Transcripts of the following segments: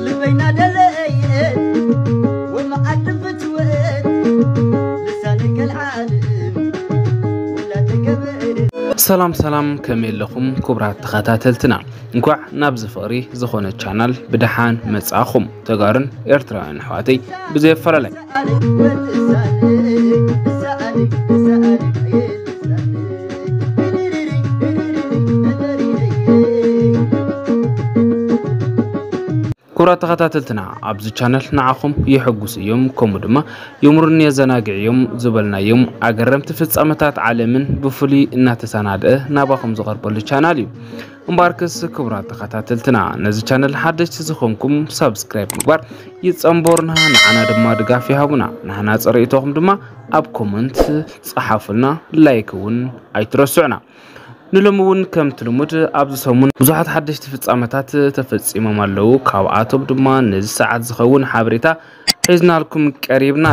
ልበይና ደለየት ወመዓድን ፍትወት ልሳነይ ከልዓለም ወላ ተገበረ። ሰላም ሰላም፣ ከመይ ኣለኹም ክቡራት ተኸታተልትና? እንኳዕ ናብዚ ፍቕሪ ዝኾነ ቻናል ብደሓን መጻእኹም። ተጋሩን ኤርትራውያን ኣሕዋተይ ብዘየፈላለይ ክቡራት ተኸታተልትና፣ ኣብዚ ቻነል ንዓኹም የሐጉስ እዮም፣ ከምኡ ድማ የምሩን የዘናግዕ እዮም ዝበልናዮም ኣገረምቲ ፍጻመታት ዓለምን ብፍሉይ እናተሰናድአ ናባኹም ዝቐርበሉ ቻናል እዩ። እምበኣርከስ ክቡራት ተኸታተልትና፣ ነዚ ቻነል ሓደሽቲ ዝኾንኩም ሳብስክራይብ ምግባር ይጸንበሩና፣ ንዓና ድማ ድጋፍ ይሃቡና። ንሕና ጸሪእቶኹም ድማ ኣብ ኮመንት ጸሓፉልና፣ ላይክ እውን ኣይትረስዑና። ንሎሚ እውን ከምቲ ልሙድ ኣብዚ ሰሙን ብዙሓት ሓደሽቲ ፍጻመታት ተፈጺሞም ኣለዉ። ካብኣቶም ድማ ነዚ ሰዓት ዝኸውን ሓበሬታ ሒዝናልኩም ቀሪብና።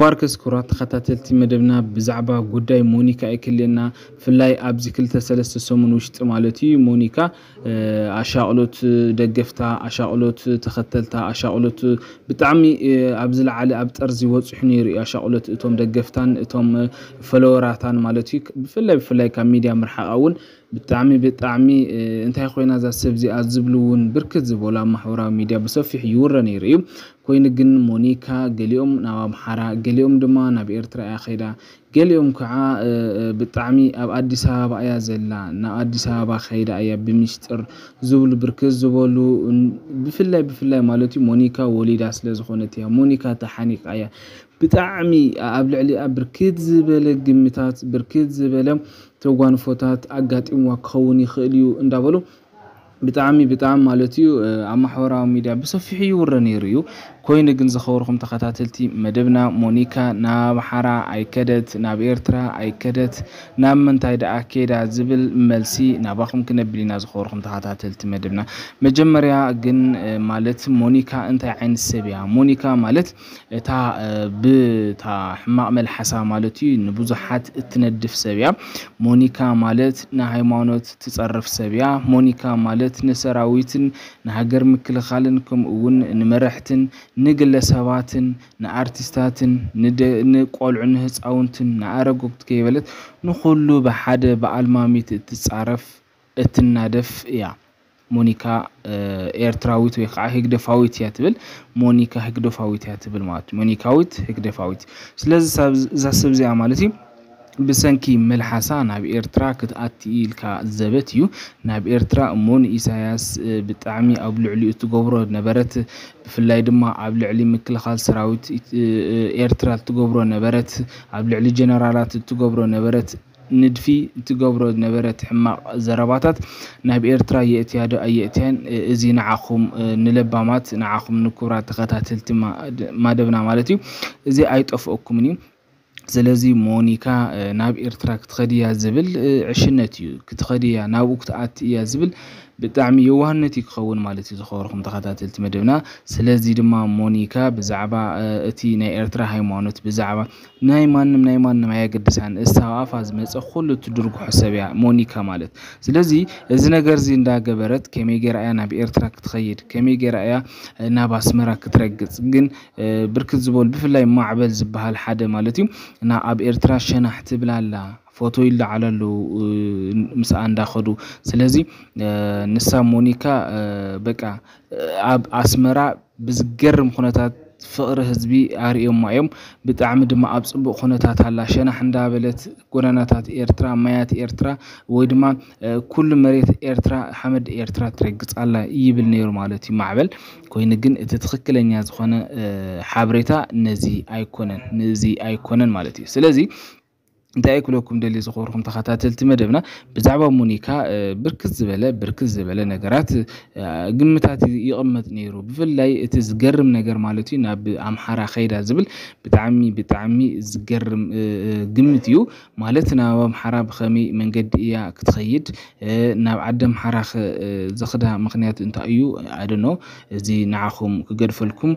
ባርከስ ክቡራት ተኸታተልቲ መደብና፣ ብዛዕባ ጉዳይ ሞኒካ ኣይክልየና። ብፍላይ ኣብዚ ክልተ ሰለስተ ሰሙን ውሽጢ ማለት እዩ፣ ሞኒካ ኣሻቕሎት ደገፍታ፣ ኣሻቕሎት ተኸተልታ፣ ኣሻቕሎት ብጣዕሚ ኣብ ዝለዓለ ኣብ ጠርዚ ወፂሑ ነይሩ እዩ። ኣሻቕሎት እቶም ደገፍታን እቶም ፈለወራታን ማለት እዩ። ብፍላይ ብፍላይ ካብ ሚድያ ምርሓቓ እውን ብጣዕሚ ብጣዕሚ እንታይ ኮይና እዛ ሰብ እዚኣ ዝብሉ እውን ብርክት ዝበሉ ኣብ ማሕበራዊ ሚድያ ብሰፊሕ ይውረ ነይሩ እዩ። ኮይኑ ግን ሞኒካ ገሊኦም ናብ ኣምሓራ፣ ገሊኦም ድማ ናብ ኤርትራ እያ ከይዳ፣ ገሊኦም ከዓ ብጣዕሚ ኣብ ኣዲስ ኣበባ እያ ዘላ፣ ናብ ኣዲስ ኣበባ ከይዳ እያ ብሚስጥር ዝብሉ ብርክት ዝበሉ። ብፍላይ ብፍላይ ማለት እዩ ሞኒካ ወሊዳ ስለ ዝኾነት እያ፣ ሞኒካ ተሓኒቃ እያ። ብጣዕሚ ኣብ ልዕሊኣ ብርክት ዝበለ ግምታት፣ ብርክት ዝበለ ተጓንፎታት ኣጋጢምዋ ክኸውን ይኽእል እዩ እንዳበሉ ብጣዕሚ ብጣዕሚ ማለት እዩ ኣብ ማሕበራዊ ሚድያ ብሰፊሑ ይውረ ነይሩ እዩ። ኮይኑ ግን ዝኸበርኩም ተኸታተልቲ መደብና፣ ሞኒካ ናብ ሓራ ኣይከደት፣ ናብ ኤርትራ ኣይከደት፣ ናብ ምንታይ ደኣ ከይዳ ዝብል መልሲ ናባኹም ክነብል ኢና። ዝኸበርኩም ተኸታተልቲ መደብና፣ መጀመርያ ግን ማለት ሞኒካ እንታይ ዓይነት ሰብ እያ? ሞኒካ ማለት እታ ብታ ሕማቕ መልሓሳ ማለት እዩ ንብዙሓት እትነድፍ ሰብ እያ። ሞኒካ ማለት ንሃይማኖት ትጸርፍ ሰብ እያ። ሞኒካ ማለት ንሰራዊትን ንሃገር ምክልኻልን ከምኡ እውን ንመረሕትን ንግለሰባትን ንኣርቲስታትን ንደ- ንቆልዑ ንህፃውንትን ንኣረጎት ከይበለት ንኹሉ ብሓደ ብኣልማሚት እትጻረፍ እትናደፍ እያ። ሞኒካ ኤርትራዊት ወይ ከዓ ህግደፋዊት እያ ትብል። ሞኒካ ህግደፋዊት እያ ትብል ማለት እዩ። ሞኒካዊት ህግደፋዊት። ስለዚ እዛ ሰብ እዚኣ ማለት እዩ ብሰንኪ መልሓሳ ናብ ኤርትራ ክትኣቲ ኢልካ ዘበት እዩ። ናብ ኤርትራ እሞ ንኢሳያስ ብጣዕሚ ኣብ ልዕሊኡ እትገብሮ ነበረት፣ ብፍላይ ድማ ኣብ ልዕሊ ምክልኻል ሰራዊት ኤርትራ እትገብሮ ነበረት፣ ኣብ ልዕሊ ጀነራላት እትገብሮ ነበረት ንድፊ እትገብሮ ዝነበረት ሕማቕ ዘረባታት ናብ ኤርትራ የእትያ ዶ ኣየእትያን፣ እዚ ንዓኹም ንለባማት፣ ንዓኹም ንክቡራት ተኸታተልቲ ማደብና ማለት እዩ፣ እዚ ኣይጠፍኦኩምን እዩ። ስለዚ ሞኒካ ናብ ኤርትራ ክትኸድያ ዝብል ዕሽነት እዩ። ክትኸድያ ናብኡ ክትኣቲ እያ ዝብል ብጣዕሚ የዋህነት እዩ ክኸውን ማለት እዩ። ዝኸበርኩም ተኸታተልቲ መደብና፣ ስለዚ ድማ ሞኒካ ብዛዕባ እቲ ናይ ኤርትራ ሃይማኖት፣ ብዛዕባ ናይ ማንም ናይ ማንም ኣየገድሳን። እሳ ኣፋ ዝመፀ ኩሉ ትድርጉሖ ሰብ እያ ሞኒካ ማለት። ስለዚ እዚ ነገር እዚ እንዳገበረት ከመይ ገይራ እያ ናብ ኤርትራ ክትኸይድ፣ ከመይ ገይራ እያ ናብ ኣስመራ ክትረግፅ? ግን ብርክት ዝበሉ ብፍላይ ማዕበል ዝበሃል ሓደ ማለት እዩ እና ኣብ ኤርትራ ሸናሕ ትብል ኣላ፣ ፎቶ ይለዓሉ ኣለዉ ምስኣ እንዳኸዱ። ስለዚ ንሳ ሞኒካ በቃ ኣብ ኣስመራ ብዝገርም ኩነታት ፍቕሪ ህዝቢ ኣርእዮማ እዮም። ብጣዕሚ ድማ ኣብ ፅቡቕ ኩነታት ኣላ። ሸናሕ እንዳበለት ጎደናታት ኤርትራ፣ ማያት ኤርትራ ወይ ድማ ኩሉ መሬት ኤርትራ ሓመድ ኤርትራ ትረግፅ ኣላ ይብል ነይሩ ማለት እዩ ማዕበል። ኮይኑ ግን እቲ ትኽክለኛ ዝኾነ ሓበሬታ ነዚ ኣይኮነን፣ ነዚ ኣይኮነን ማለት እዩ። ስለዚ እንታይ ክብለኩም ደልየ ዝኸበርኩም ተኸታተልቲ መደብና፣ ብዛዕባ ሞኒካ ብርክት ዝበለ ብርክት ዝበለ ነገራት ግምታት ይቕመጥ ነይሩ። ብፍላይ እቲ ዝገርም ነገር ማለት እዩ፣ ናብ ኣምሓራ ከይዳ ዝብል ብጣዕሚ ብጣዕሚ ዝገርም ግምት እዩ። ማለት ናብ ኣምሓራ ብኸመይ መንገዲ እያ ክትኸይድ፣ ናብ ዓዲ ኣምሓራ ዝኽዳ ምኽንያት እንታይ እዩ? ኣደኖ፣ እዚ ንዓኹም ክገድፈልኩም።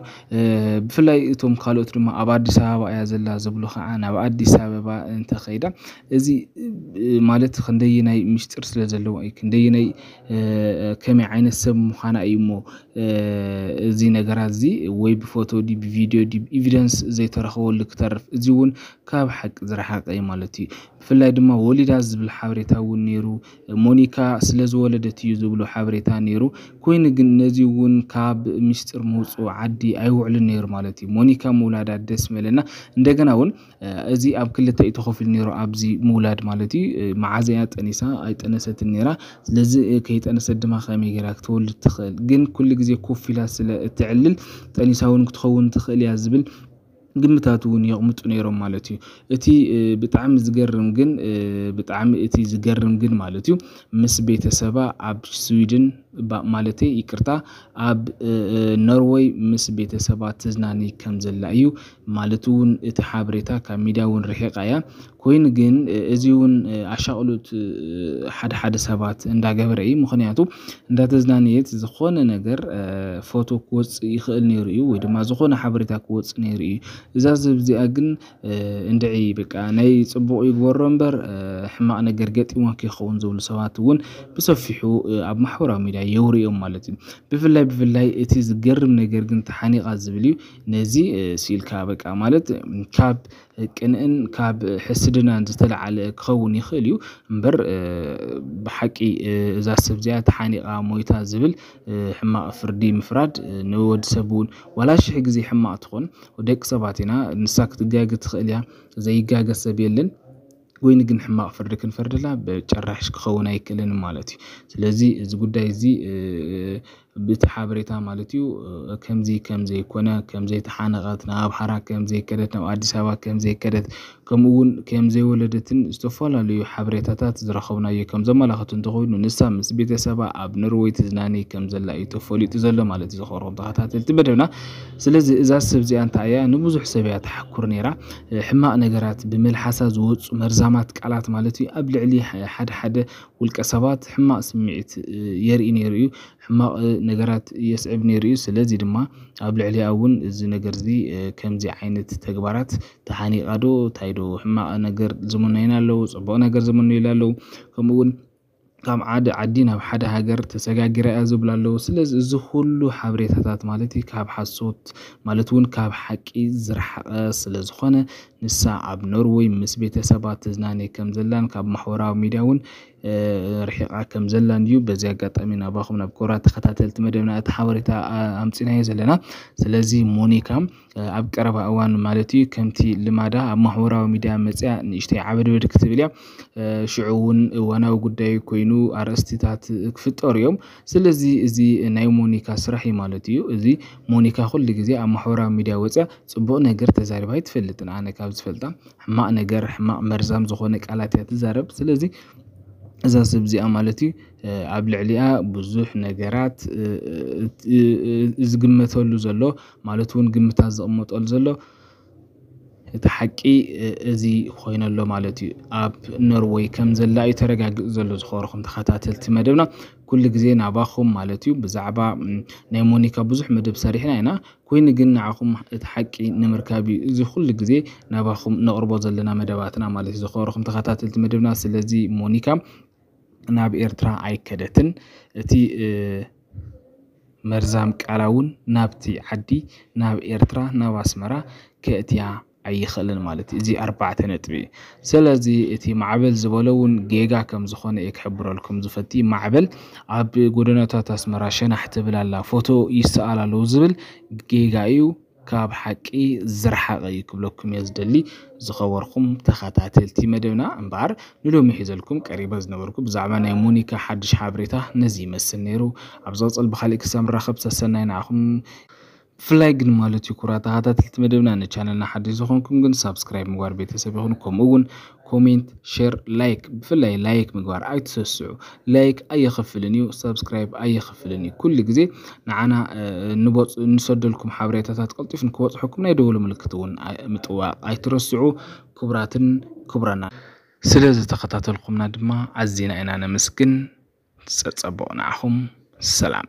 ብፍላይ እቶም ካልኦት ድማ ኣብ ኣዲስ ኣበባ እያ ዘላ ዝብሉ ከዓ ናብ ኣዲስ ኣበባ እንተኸይዳ፣ እዚ ማለት ክንደየናይ ምስጢር ስለ ዘለዎ እዩ፣ ክንደየናይ ከመይ ዓይነት ሰብ ምዃና እዩ እሞ፣ እዚ ነገራት እዚ ወይ ብፎቶ ድዩ ብቪድዮ ድዩ ኤቪደንስ ዘይተረኸበሉ ክተርፍ፣ እዚ እውን ካብ ሓቂ ዝረሓቀ እዩ ማለት እዩ። ብፍላይ ድማ ወሊዳ ዝብል ሓበሬታ እውን ነይሩ። ሞኒካ ስለ ዝወለደት እዩ ዝብሉ ሓበሬታ ነይሩ። ኮይኑ ግን ነዚ እውን ካብ ምስጢር ምውፅኡ ዓዲ ኣይውዕልን ነይሩ ማለት እዩ። ሞኒካ ምውላዳ ደስ መለና። እንደገና እውን እዚ ኣብ ክልተ እዩ ተኸፊሉ ነይሩ ኣብዚ ምውላድ ማለት እዩ። መዓዘያ ጠኒሳ ኣይጠነሰትን ነይራ። ስለዚ ከይጠነሰት ድማ ከመይ ገይራ ክትወልድ ትኽእል? ግን ኩሉ ግዜ ኮፍ ኢላ ስለ እትዕልል ጠኒሳ እውን ክትኸውን ትኽእል እያ ዝብል ግምታት እውን የቕምጡ ነይሮም ማለት እዩ። እቲ ብጣዕሚ ዝገርም ግን ብጣዕሚ እቲ ዝገርም ግን ማለት እዩ፣ ምስ ቤተሰባ ኣብ ስዊድን ማለተይ ይቅርታ፣ ኣብ ኖርወይ ምስ ቤተሰባ ትዝናኒ ከም ዘላ እዩ። ማለት እውን እቲ ሓበሬታ ካብ ሚድያ እውን ርሒቃ እያ። ኮይኑ ግን እዚ እውን ኣሻቕሉት ሓደ ሓደ ሰባት እንዳገበረ እዩ። ምክንያቱ እንዳተዝናነየት ዝኾነ ነገር ፎቶ ክወፅእ ይኽእል ነይሩ እዩ፣ ወይ ድማ ዝኾነ ሓበሬታ ክወፅእ ነይሩ እዩ። እዛ ሰብ እዚኣ ግን እንድዒ በቃ ናይ ፅቡቕ ይግበሮ እምበር ሕማቕ ነገር ገጢሞ ከይኸውን ዝብሉ ሰባት እውን ብሰፊሑ ኣብ ማሕበራዊ ሚድያ የውርዮም ማለት እዩ። ብፍላይ ብፍላይ እቲ ዝገርም ነገር ግን ተሓኒቓ ዝብል እዩ። ነዚ ስኢልካ በቃ ማለት ካብ ቅንእን ካብ ሕስድናን ዝተለዓለ ክኸውን ይኽእል እዩ እምበር፣ ብሓቂ እዛ ሰብ እዚኣ ተሓኒቓ ሞይታ ዝብል ሕማቕ ፍርዲ ምፍራድ ንወዲ ሰብ እውን ዋላ ሽሕ ግዜ ሕማቕ ትኾን። ደቂ ሰባት ኢና፣ ንሳ ክትጋገ ትኽእል እያ፣ ዘይጋገ ሰብ የለን። ኮይኑ ግን ሕማቕ ፍርዲ ክንፈርደላ ብጭራሽ ክኸውን ኣይክእልን ማለት እዩ። ስለዚ እዚ ጉዳይ እዚ ብቲ ሓበሬታ ማለት እዩ ከምዚ ከም ዘይኮነ፣ ከም ዘይተሓነቐት፣ ናብ ኣምሓራ ከም ዘይከደት፣ ናብ ኣዲስ ኣበባ ከም ዘይከደት፣ ከምኡ እውን ከም ዘይወለደትን ዝተፈላለዩ ሓበሬታታት ዝረኸብናዮ ከም ዘመላኽቱ እንተኾይኑ፣ ንሳ ምስ ቤተሰባ ኣብ ኖርወይ ትዝናነይ ከም ዘላ እዩ ተፈሊጡ ዘሎ ማለት እዩ። ዝኸበርኩም ተኸታተልቲ መደብና፣ ስለዚ እዛ ሰብ እዚኣ እንታይ እያ ንብዙሕ ሰብ እያ ተሓኩር ነይራ። ሕማቕ ነገራት ብመልሓሳ ዝወፁ መርዛማት ቃላት ማለት እዩ ኣብ ልዕሊ ሓደ ሓደ ውልቀ ሰባት ሕማቕ ስምዒት የርኢ ነይሩ እዩ። ሕማቕ ነገራት የስዕብ ነይሩ እዩ። ስለዚ ድማ ኣብ ልዕሊኣ እውን እዚ ነገር እዚ ከምዚ ዓይነት ተግባራት ተሓኒቓ ዶ እንታይ ዶ ሕማቕ ነገር ዝምነዩና ኣለዉ፣ ፅቡቕ ነገር ዝምነዩላ ኣለዉ። ከምኡ እውን ካብ ሓደ ዓዲ ናብ ሓደ ሃገር ተሰጋጊራ እያ ዝብሉ ኣለዉ። ስለዚ እዚ ኩሉ ሓበሬታታት ማለት እዩ ካብ ሓሶት ማለት እውን ካብ ሓቂ ዝረሓቐ ስለ ዝኾነ፣ ንሳ ኣብ ኖርወይ ምስ ቤተሰባ ትዝናነ ከም ዘላን ካብ ማሕበራዊ ሚድያ እውን ርሒቓ ከም ዘላን እዩ። በዚ ኣጋጣሚ ናባኹም ናብ ክቡራት ተኸታተልቲ መደብና እቲ ሓበሬታ ኣምፂናዮ ዘለና። ስለዚ ሞኒካ ኣብ ቀረባ እዋን ማለት እዩ ከምቲ ልማዳ ኣብ ማሕበራዊ ሚድያ መፅያ ንእሽተይ ዓበድበድ ክትብል እያ። ሽዑ እውን እዋናዊ ጉዳይ ኮይኑ ኣርእስቲታት ክፍጠሩ እዮም። ስለዚ እዚ ናይ ሞኒካ ስራሕ እዩ ማለት እዩ። እዚ ሞኒካ ኩሉ ግዜ ኣብ ማሕበራዊ ሚድያ ወፅያ ፅቡቕ ነገር ተዛሪባ ኣይትፈልጥን። ኣነ ካብ ዝፈልጣ ሕማቕ ነገር፣ ሕማቕ መርዛም ዝኾነ ቃላት እያ ትዛረብ። ስለዚ እዛ ሰብ እዚኣ ማለት እዩ ኣብ ልዕሊኣ ብዙሕ ነገራት ዝግመተሉ ዘሎ ማለት እውን ግምታት ዝቕመጠሉ ዘሎ እቲ ሓቂ እዚ ኮይነሎ ማለት እዩ። ኣብ ኖርወይ ከም ዘላ እዩ ተረጋጊፁ ዘሎ። ዝኸበርኩም ተኸታተልቲ መደብና ኩሉ ግዜ ናባኹም ማለት እዩ ብዛዕባ ናይ ሞኒካ ብዙሕ መደብ ሰሪሕና ኢና። ኮይኑ ግን ንዓኹም እቲ ሓቂ ንምርካብ እዩ እዚ ኩሉ ግዜ ናባኹም ነቕርቦ ዘለና መደባትና ማለት እዩ። ዝኸበርኩም ተኸታተልቲ መደብና፣ ስለዚ ሞኒካ ናብ ኤርትራ ኣይከደትን። እቲ መርዛም ቃላ እውን ናብቲ ዓዲ ናብ ኤርትራ ናብ ኣስመራ ከእትያ ኣይኽእልን ማለት እዩ። እዚ ኣርባዕተ ነጥቢ እዩ። ስለዚ እቲ ማዕበል ዝበሎ እውን ጌጋ ከም ዝኾነ እየ ክሕብረልኩም ዝፈቲ። ማዕበል ኣብ ጎደናታት ኣስመራ ሸናሕ ትብል ኣላ፣ ፎቶ ይሰኣል ኣለዉ ዝብል ጌጋ እዩ። ካብ ሓቂ ዝረሓቐ እዩ ክብለኩም እየ ዝደሊ። ዝኸበርኩም ተኸታተልቲ መደብና እምበኣር ንሎሚ ሒዘልኩም ቀሪበ ዝነበርኩ ብዛዕባ ናይ ሞኒካ ሓድሽ ሓበሬታ ነዚ ይመስል ነይሩ። ኣብ ዝቕፅል ብካሊእ ክሳብ ንራኸብ ሰሰናይ ንዓኹም። ብፍላይ ግን ማለት እዩ ክቡራት ተኸታተልቲ መደብና ንቻነልና ሓድሽ ዝኾንኩም ግን ሳብስክራይብ ምግባር ቤተሰብ ይኹን፣ ከምኡ እውን ኮሜንት፣ ሼር፣ ላይክ፣ ብፍላይ ላይክ ምግባር ኣይትሰስዑ። ላይክ ኣየኸፍልን እዩ፣ ሳብስክራይብ ኣየኸፍልን እዩ። ኩሉ ግዜ ንዓና ንሰደልኩም ሓበሬታታት ቀልጢፉ ንክበፅሐኩም ናይ ደወል ምልክት እውን ምጥዋቕ ኣይትረስዑ። ክቡራትን ክቡራና፣ ስለ ዝተኸታተልኩምና ድማ ኣዚና ኢና ነመስግን። ፀፀቦቕ ንዓኹም። ሰላም።